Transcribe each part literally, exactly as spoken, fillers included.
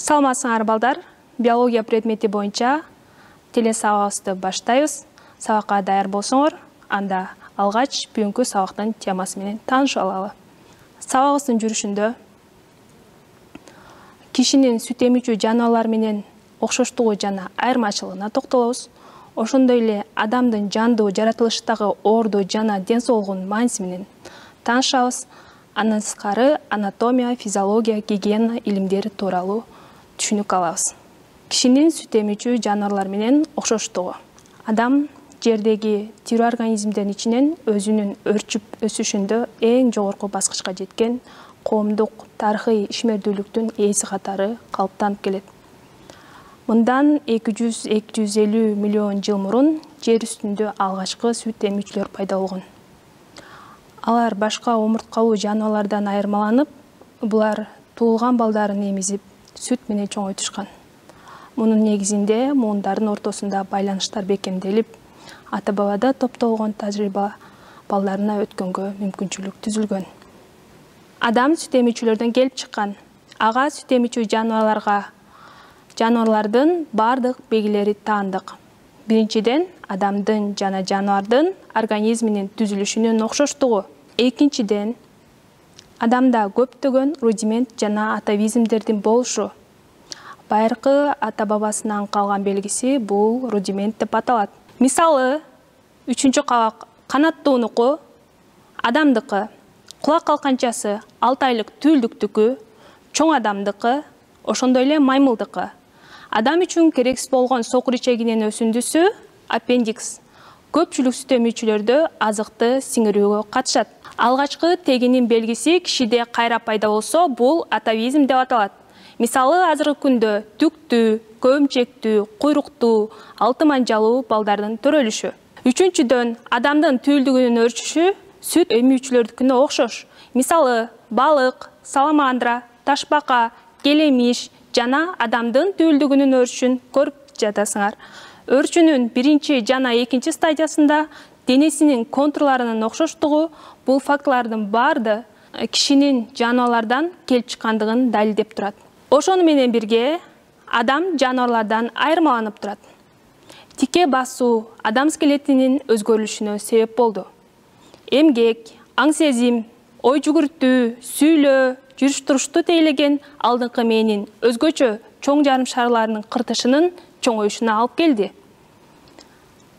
Саламатсыңар балдар, биология предмети боюнча телесабагыбызды баштайбыз. Сабакка даяр болсоңор, анда алгач бүгүнкү сабактын темасы менен таанышып алалы. Сабагыбыздын жүрүшүндө кишинин сүт эмүүчү жаныбарлар менен окшоштугу жана айырмачылыгына токтолобуз. Ошондой эле адамдын жандуу жаратылыштагы орду жана ден соолугунун мааниси менен таанышабыз. Андан сырткары анатомия, физиология, гигиена илимдери тууралуу түшүнүк алабыз. Кишинин сүт эмүүчү жаныбарлар менен окшоштугу. Адам жердеги тирүү организмдердин ичинен өзүнүн өрчүп өсүшүндө эң жогорку баскычка жеткен коомдук тарыхый ишмердүүлүктүн ээси катары калыптанып келет. Мындан эки жүз — эки жүз элүү миллион жыл мурун жер үстүндө алгачкы сүт эмүүчүлөр пайда болгон. Алар башка омурткалуу жаныбарлардан айырмаланып, булар туулган балдарын эмизип, сүт менен чоңойтушкан. Мунун негизинде муундардын ортосунда байланыштар бекемделип, ата-бабада топтолгон тажрыйба балдарына өткөнгө мүмкүнчүлүк түзүлгөн. Адам сүт эмүүчүлөрдөн келип чыккан. Ага сүт эмүүчү жаныбарларга жаныбарлардын бардык белгилери таандык. Биринчиден, адамдын жана жаныбардын организминин түзүлүшүнүн окшоштугу. Экинчиден, адамда көптөгөн рудимент жана атовизмдердин болушу. Байыркы ата-бабасынан калган белгиси бул рудимент деп аталат. Мисалы, үчүнчү кабак канаттуунуку, адамдыкы, кулак калканчасы алты айлык түүлдүктүкү, чоң адамдыкы, ошондой эле маймылдыкы. Адам үчүн керексиз болгон сокур ичегинин өсүндүсү аппендикс көпчүлүк сүт эмүүчүлөрдө азыкты сиңирүүгө катышат. Алгачкы тегинин белгиси кишиде кайра пайда болсо, бул атовизм деп аталат. Мисалы, азыркы күндө түктүү, көмчектүү, куйруктуу, алты манжалуу балдардын төрөлүшү. Үчүнчүдөн, адамдын түүлдүгүнүн өрчүшү сүт эмүүчүлөрдүкүнө окшош. Мисалы, балык, саламандра, ташбака, келемиш жана адамдын түүлдүгүнүн өрчүшүн көрүп жатасыңар. Өрчүнүн биринчи жана экинчи стадиясында денесинин контурларынын окшоштугу бул фактылардын баарды кишинин жаныбарлардан келип чыккандыгын далилдеп турат. Ошону менен бирге адам жаныбарлардан айырмаланып турат. Тике басуу адам скелетинин өзгөрүлүшүнө себеп болду. Эмгек, аң сезим, ой жүгүртүү, сүйлөө, жүрүш-турушту тейлеген алдыңкы мээнин өзгөчө чоң жарым шарларынын кыртышынын чоңоюшуна алып келди.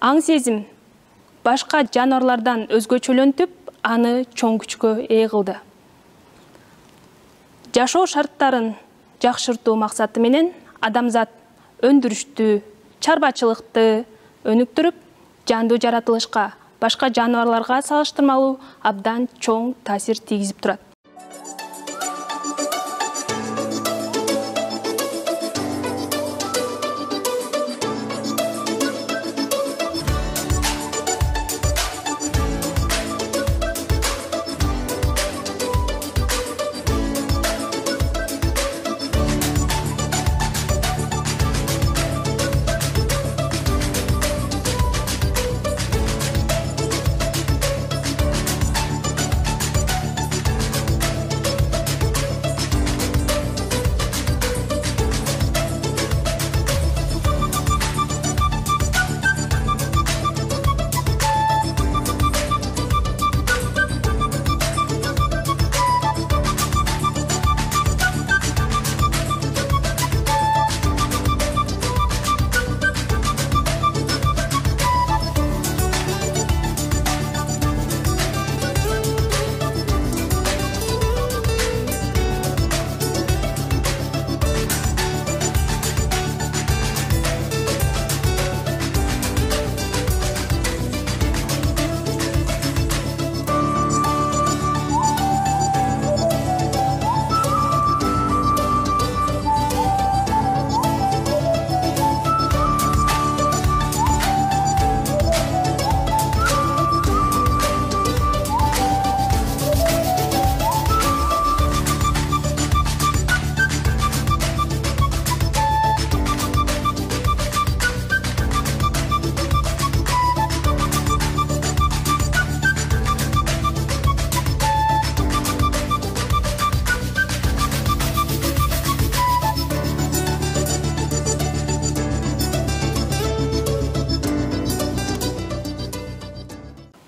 Аң сезим башка жаныбарлардан өзгөчөлөнтүп, аны чоң күчкө ээ кылды. Жашоо шарттарын жакшыртуу максаты менен адамзат өндүрүштү, чарбачылыкты өнүктүрүп, жандуу жаратылышка, башка жаныбарларга салыштырмалуу абдан чоң таасир тийгизип турат.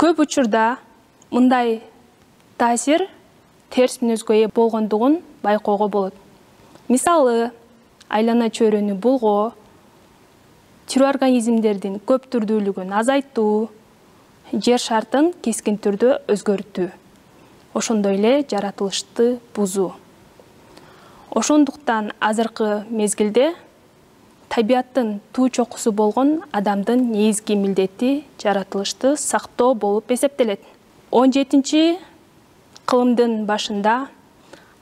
Көп учурда мындай таасир терс мүнөзгө ээ болгондугун байкоого болот. Мисалы, айлана чөйрөнү булгоо, тирүү организмдердин көп түрдүүлүгүн азайтуу, жер шартын кескин түрдө өзгөртүү, ошондой эле жаратылышты бузуу. Ошондуктан азыркы мезгилде табияттын туу чокусу болгон адамдын негизги милдети жаратылышты сактоо болуп эсептелет. он жетинчи кылымдын башында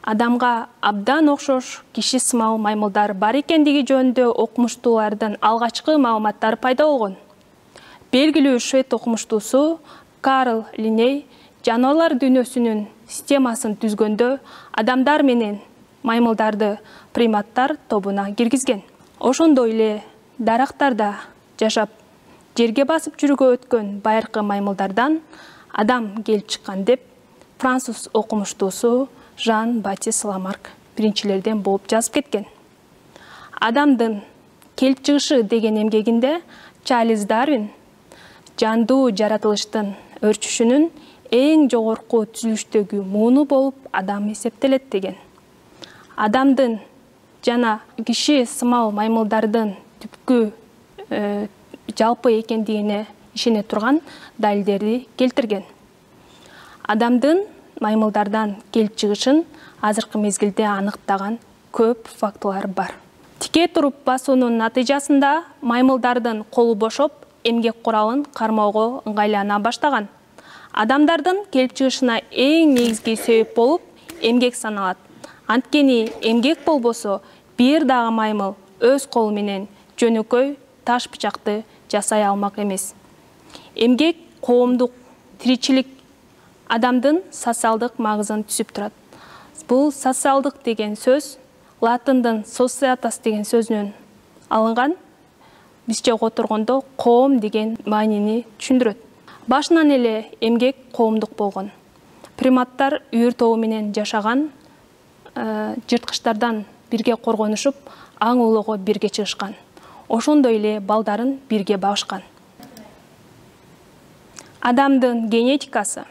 адамга абдан окшош киши сымал маймылдар бар экендиги жөнүндө окумуштуулардын алгачкы маалыматтары пайда болгон. Белгилүү швед окумуштуусу Карл Линней жаныбарлар дүйнөсүнүн системасын түзгөндө адамдар менен маймылдарды приматтар тобуна киргизген. Ошондой эле дарактарда жашап, жерге басып жүрүүгө өткөн байыркы маймылдардан адам келип чыккан деп француз окумуштуусу Жан Батист Ламарк биринчилерден болуп жазып кеткен. Адамдын келип чыгышы деген эмгегинде Чарльз Дарвин жандуу жаратылыштын өрчүшүнүн эң жогорку түзүлүштөгү мууну болуп адам эсептелет деген. Адамдын жана киши сымал маймылдардын түпкү э, жалпы экендигине ишене турган далилдерди келтирген. Адамдын маймылдардан келип чыгышын азыркы мезгилде аныктаган көп фактылар бар. Тике туруп басуунун натыйжасында маймылдардын колу бошоп, эмгек куралын кармоого ыңгайлана баштаган. Адамдардын келип чыгышына эң негизги себеп болуп эмгек саналат. Анткени эмгек болбосо бир дагы маймыл өз колу менен жөнөкөй таш бычакты жасай алмак эмес. Эмгек коомдук тиричилик адамдын социалдык маңызын түзүп турат. Бул социалдык деген сөз латындын societas деген сөзүнөн алынган. Бизче которгондо коом деген маанини түшүндүрөт. Башынан эле эмгек коомдук болгон. Приматтар үйүр тобу менен жашаган, жырткычтардан бирге коргонушуп, аң улоого бирге чыгышкан. Ошондой эле балдарын бирге багышкан. Адамдын генетикасы.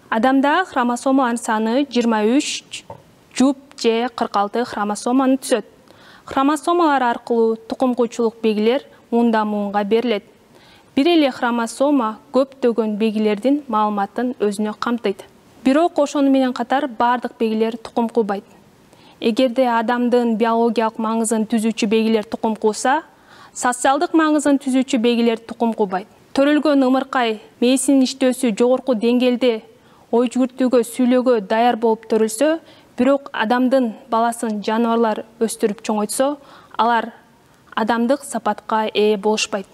Адамда хромосомалардын саны жыйырма үч, жуп же кырк алты хромосоманы түзөт. Хромосомалар аркылуу тукумкучулук белгилер муундан муунга берилет. Бир эле хромосома көптөгөн белгилердин маалыматын өзүнө камтыйт. Бирок ошону менен катар бардык белгилер тукум куубайт. Эгерде адамдын биологиялык маңызын түзүүчү белгилер тукум кууса, социалдык маңызын түзүүчү белгилер тукум куубайт. Төрөлгөн ымыркай мээсинин иштөөсү жогорку деңгээлде ой жүгүртүүгө, сүйлөөгө даяр болуп төрөлсө, бирок адамдын баласын жаныбарлар өстүрүп чоңойтсо, алар адамдык сапатка ээ болушпайт.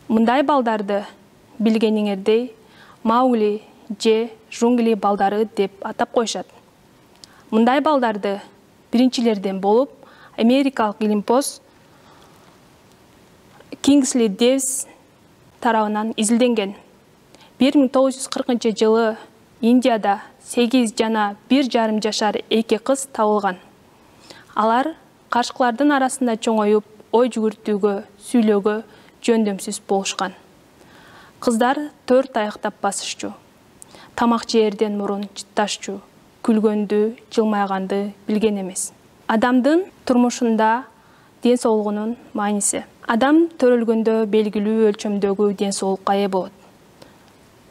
Мындай балдарды билгениңердей Маугли же жунгли балдары деп атап коюшат. Мындай балдарды биринчилерден болуп америкалык илимпоз Кингсли Дэвис тарабынан изилденген. бир миң тогуз жүз кыркынчы жылы Индияда сегиз жана бир жарым жашар эки кыз табылган. Алар каршкылардын арасында чоңоюп, ой жүгүртүүгө, сүйлөөгө жөндөмсүз болушкан. Кыздар төрт аяктап басышчу. Тамак жээрден мурун чытташчу, күлгөндү, жылмайганды билген эмес. Адамдын турмушунда ден соолугунун мааниси. Адам төрөлгөндө белгилүү өлчөмдөгү ден соолукка ээ болот.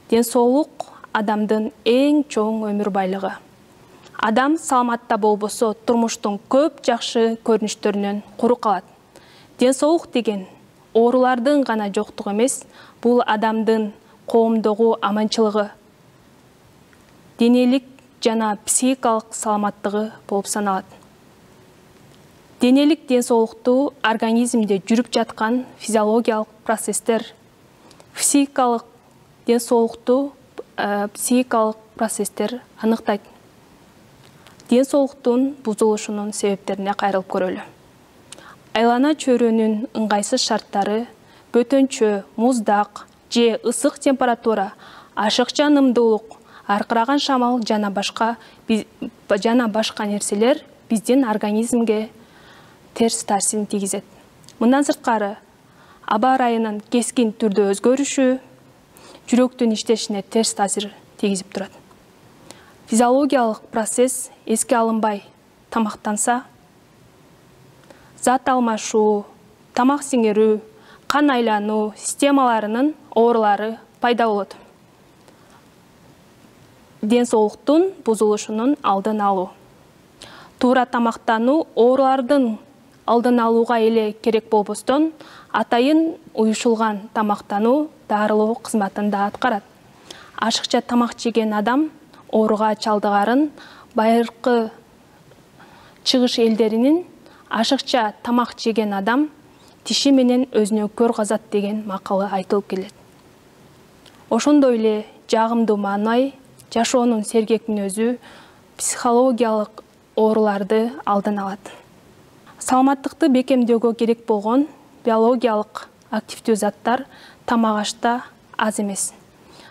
Ден соолук адамдын эң чоң өмүр байлыгы. Адам саламатта болбосо турмуштун көп жакшы көрүнүштөрүнөн куру калат. Ден соолук деген оорулардын гана жоктугу эмес, бул адамдын коомдогу аманчылыгы, денелик жана психикалык саламаттыгы болуп саналат. Денелик ден соолукту организмде жүрүп жаткан физиологиялык процесстер, психикалык ден соолукту психикалык процесстер аныктайт. Ден соолуктун бузулушунун себептерине кайрылып көрөлү. Айлана чөйрөнүн ыңгайсыз шарттары, бөтөнчө, муздак же ысык температура, ашыкча нымдуулук, аркыраган шамал жана башка жана башка нерселер биздин организмге терс таасирин тийгизет. Мындан сырткары, аба ырайынын кескин түрдө өзгөрүшү, жүрөктүн иштешине терс таасир тийгизип турат. Физиологиялык процесс эске алынбай тамактанса, зат алмашуу, тамак сиңирүү, кан айлануу системаларынын оорулары пайда болот. Ден соолуктун бузулушунун алдын алуу. Туура тамактануу оорулардын алдын алууга эле керек болбостон, атайын уюшулган тамактануу дарылоо кызматын да аткарат. Ашыкча тамак жеген адам ооруга чалдыгарын байыркы чыгыш элдеринин ашыкча тамак жеген адам тиши менен өзүнө көр казат деген макалы айтылып келет. Ошондой эле жагымдуу маанай жашоонун сергек мүнөзү психологиялык ооруларды алдын алат. Саламаттыкты бекемдөөгө керек болгон биологиялык активдүү заттар тамак ашта аз эмес.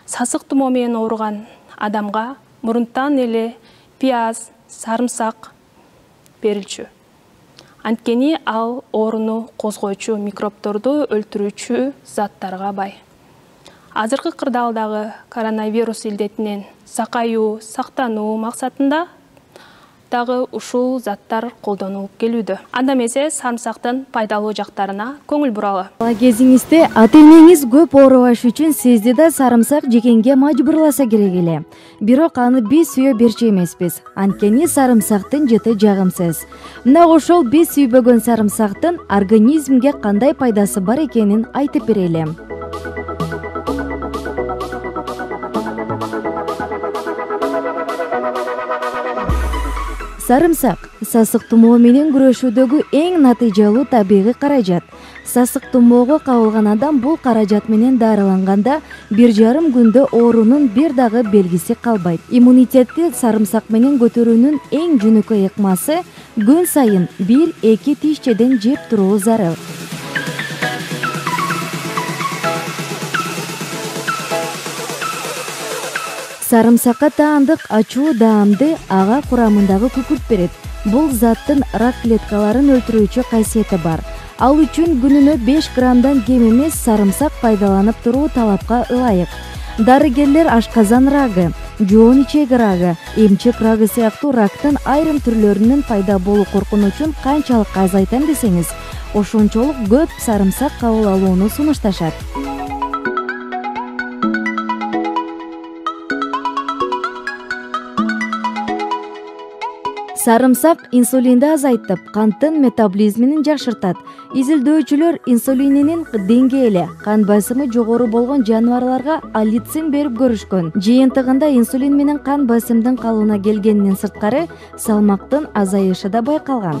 Сасык тумоо менен ооруган адамга мурунтан эле пияз, сарымсак берилчү. Анткени ал ооруну козгоочу микробторду өлтүрүүчү заттарга бай. Азыркы кырдаалдагы коронавирус илдетинен сакаюу, сактануу максатында дагы ушул заттар колдонулуп келүүдө. Анда эмесе сарымсактын пайдалуу жактарына көңүл буралы. Бала кезиңизде ата-энеңиз көп оорубаш үчүн сизди да сарымсак жегенге мажбурласа керек эле. Бирок аны биз сүйө берчү эмеспиз. Анткени сарымсактын жыты жагымсыз. Мына ошол биз сүйбөгөн сарымсактын организмге кандай пайдасы бар экенин айтып берели. Сарымсак сасык тумоо менен күрөшүүдөгү эң натыйжалуу табигый каражат. Сасык тумоого кабылган адам бул каражат менен дарыланганда бир жарым күндө оорунун бир дагы белгиси калбайт. Иммунитетти сарымсак менен көтөрүүнүн эң жөнөкөй ыкмасы күн сайын бир-эки тишчеден жеп туруу зарыл. Сарымсакка таандык ачуу даамды ага курамындагы күкүрт берет. Бул заттын рак клеткаларын өлтүрүүчү касиети бар. Ал үчүн күнүнө беш граммдан кем эмес сарымсак пайдаланып туруу талапка ылайык. Дарыгерлер ашказан рагы, жоон ичеги рагы, эмчек рагы сыяктуу рактын айрым түрлөрүнүн пайда болуу коркунучун канчалык азайтам десеңиз, ошончолук көп сарымсак кабыл алууну сунушташат. Сарымсак инсулинди азайтып, канттын метаболизмин жакшыртат. Изилдөөчүлөр инсулининин деңгээли кан басымы жогору болгон жаныбарларга аллицин берип көрүшкөн. Жыйынтыгында инсулин менен кан басымдын калыбына келгенден сырткары салмактын азайышы да байкалган.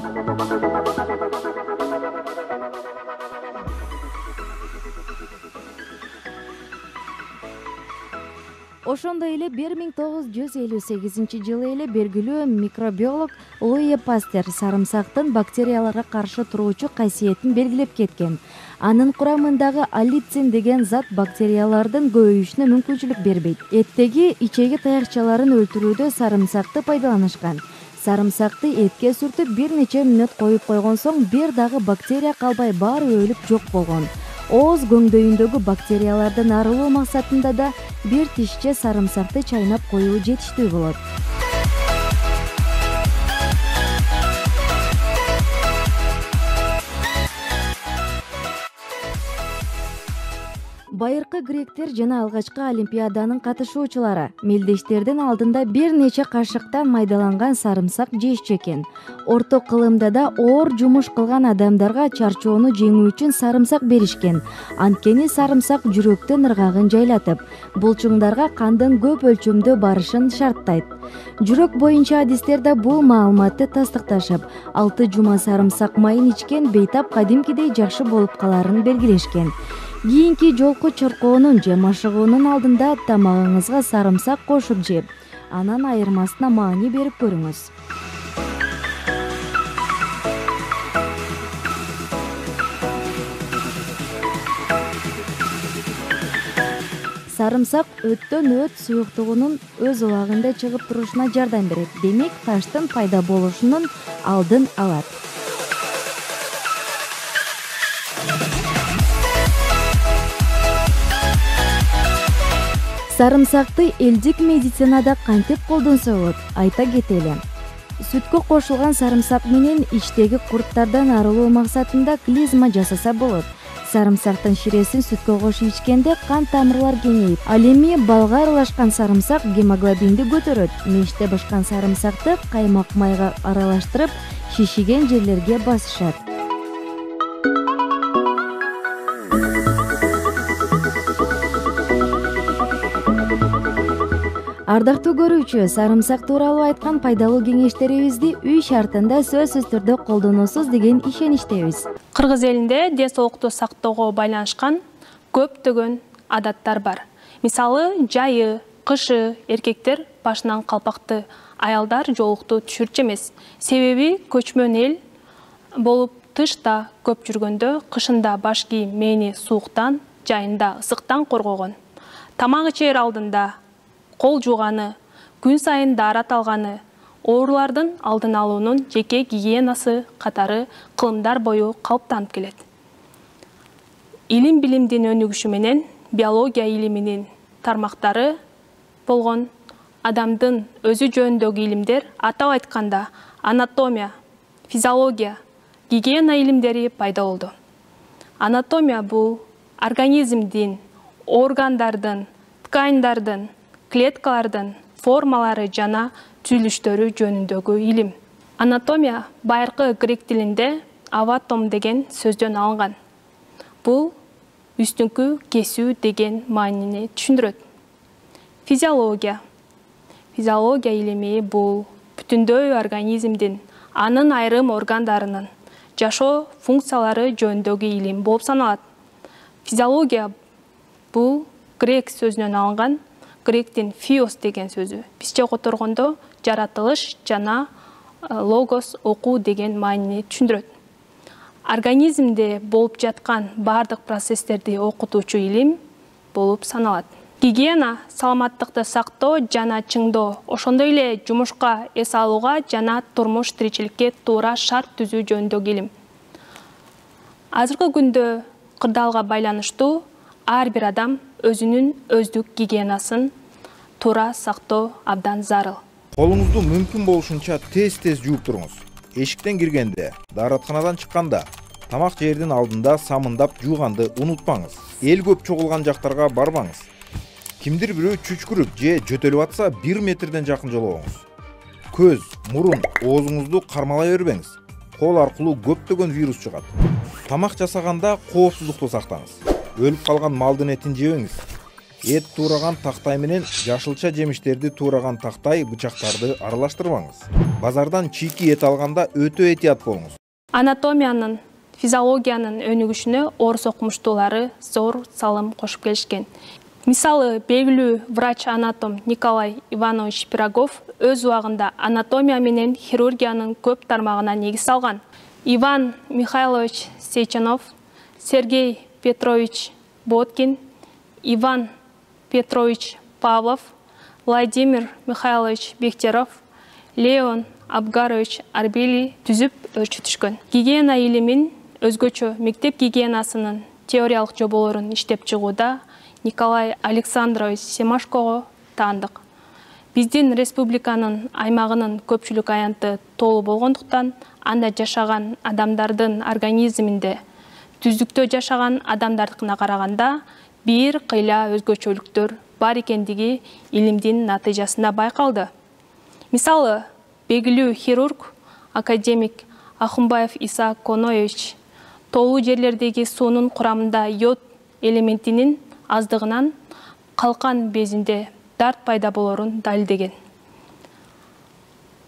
Ошондой эле бир миң тогуз жүз элүү сегизинчи жылы эле белгилүү микробиолог Луи Пастер сарымсактын бактерияларга каршы туруучу касиетин белгилеп кеткен. Анын курамындагы аллицин деген зат бактериялардын көбөйүшүнө мүмкүнчүлүк бербейт. Эттеги ичеги таякчаларын өлтүрүүдө сарымсакты пайдаланышкан. Сарымсакты этке сүртүп бир нече мүнөт коюп койгон соң бир дагы бактерия калбай баары өлүп жок болгон. Ооз көңдөйүндөгү бактериялардан арылуу максатында да бир тишче сарымсакты чайнап коюу жетиштүү болот. Байыркы гректер жана алгачкы олимпиаданын катышуучулары мелдештердин алдында бир нече кашыктан майдаланган сарымсак жешчү экен. Орто кылымда да оор жумуш кылган адамдарга чарчоону жеңүү үчүн сарымсак беришкен. Анткени сарымсак жүрөктүн ыргагын жайлатып, булчуңдарга кандын көп өлчөмдө барышын шарттайт. Жүрөк боюнча адистер да бул маалыматты тастыкташып, алты жума сарымсак майын ичкен бейтап кадимкидей жакшы болуп каларын белгилешкен. Кийинки жолку чоркоонун же машыгуунун алдында тамагыңызга сарымсак кошуп жеп, анан айырмасына маани берип көрүңүз. Сарымсак өттөн өт суюктугунун өз убагында чыгып турушуна жардам берет. Демек, таштын пайда болушунун алдын алат. Сарымсакты элдик медицинада кантип колдонсо болот, айта кетели. Сүткө кошулган сарымсак менен ичтеги курттардан арылуу максатында клизма жасаса болот. Сарымсактын ширесин сүткө кошуп ичкенде кан тамырлар кеңейип, ал эми балга аралашкан сарымсак гемоглобинди көтөрөт. Меште бышкан сарымсакты каймак майга аралаштырып, шишиген жерлерге басышат. Ардактуу көрүүчү, сарымсак тууралуу айткан пайдалуу кеңештерибизди үй шартында сөзсүз түрдө колдоносуз деген ишеничтебиз. Кыргыз элинде ден соолукту сактоого байланышкан көптөгөн адаттар бар. Мисалы, жайы, кышы эркектер башынан калпакты, аялдар жоолукту түшүрчү эмес. Себеби көчмөн эл болуп тышта көп жүргөндө кышында баш кийим мээни сууктан, жайында ысыктан коргогон. Тамак ичер алдында кол жууганы, күн сайын даарат алганы, оорулардын алдын алуунун жеке гигиенасы катары кылымдар бою калыптанып келет. Илим билимдин өнүгүшү менен биология илиминин тармактары болгон адамдын өзү жөнүндөгү илимдер, атап айтканда анатомия, физиология, гигиена илимдери пайда болду. Анатомия бул организмдин, органдардын, тканьдардын, клеткалардын формалары жана түзүлүштөрү жөнүндөгү илим. Анатомия байыркы грек тилинде аватом деген сөздөн алынган. Бул үстүңкү кесүү деген маанини түшүндүрөт. Физиология. Физиология илими бул бүтүндөй организмдин, анын айрым органдарынын жашоо функциялары жөнүндөгү илим болуп саналат. Физиология бул грек сөзүнөн алынган. Гректин фиос деген сөзү. Бизче которгондо жаратылыш жана логос окуу деген маанини түшүндүрөт. Организмде болуп жаткан бардык процесстерди окутуучу илим болуп саналат. Гигиена саламаттыкты сактоо жана чыңдоо, ошондой эле жумушка эс алууга жана турмуш тиричиликке туура шарт түзүү жөнүндөгү илим. Азыркы күндө кырдаалга байланыштуу ар бир адам өзүнүн өздүк гигиенасын туура сактоо абдан зарыл. Колуңузду мүмкүн болушунча тез-тез жууп туруңуз. Эшиктен киргенде, дааратканадан чыкканда, тамак жээрдин алдында самындап жууганды унутпаңыз. Эл көп чогулган жактарга барбаңыз. Кимдир бирөө чүчкүрүп же жөтөлүп атса, бир метрден жакын жолобоңуз. Көз, мурун, оозуңузду кармалай бербеңиз. Кол аркылуу көптөгөн вирус чыгат. Тамак жасаганда коопсуздукту сактаңыз. Өлүп калган малдын этин жебеңиз. Эт туураган тактай менен жашылча жемиштерди туураган тактай, бычактарды аралаштырбаңыз. Базардан чийки эт алганда өтө этият болуңуз. Анатомиянын, физиологиянын өнүгүшүнө орус окумуштуулары зор салым кошуп келишкен. Мисалы, белгилүү врач-анатом Николай Иванович Пирогов өз убагында анатомия менен хирургиянын көп тармагына негиз салган. Иван Михайлович Сейчанов, Сергей Петрович Боткин, Иван Петрович Павлов, Владимир Михайлович Бехтеров, Леон Абгарович Арбели түзүп өрчүтүшкөн. Гигиена илимин өзгөчө мектеп гигиенасынын теориялык жоболорун иштеп чыгууда Николай Александрович Семашкого таандык. Биздин республиканын аймагынын көпчүлүк аянты толуу болгондуктан, анда жашаган адамдардын организминде түздүктө жашаган адамдардыкына караганда бир кыйла өзгөчөлүктөр бар экендиги илимдин натыйжасында байкалды. Мисалы, белгилүү хирург академик Ахунбаев Иса Коноевич тоолуу жерлердеги суунун курамында йод элементинин аздыгынан калкан безинде дарт пайда болорун далилдеген.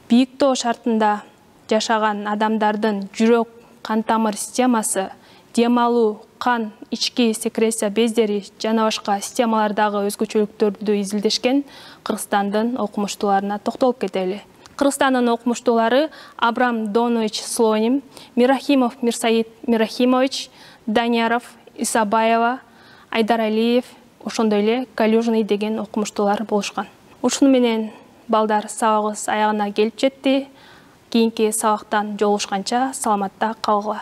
Бийик тоо шартында жашаган адамдардын жүрөк кан тамыр системасы, дем алуу, кан, ички секреция бездери жана башка системалардагы өзгөчөлүктөрдү изилдешкен Кыргызстандын окумуштууларына токтолуп кетели. Кыргызстандын окумуштуулары Абрам Донович Слоним, Мирахимов Мирсаид Мирахимович, Данияров, Исабаева, Айдаралиев, ошондой эле Калюжный деген окумуштуулар болушкан. Ушуну менен балдар сабагыбыз аягына келип жетти. Кийинки сабактан жолугушканча саламатта калгыла.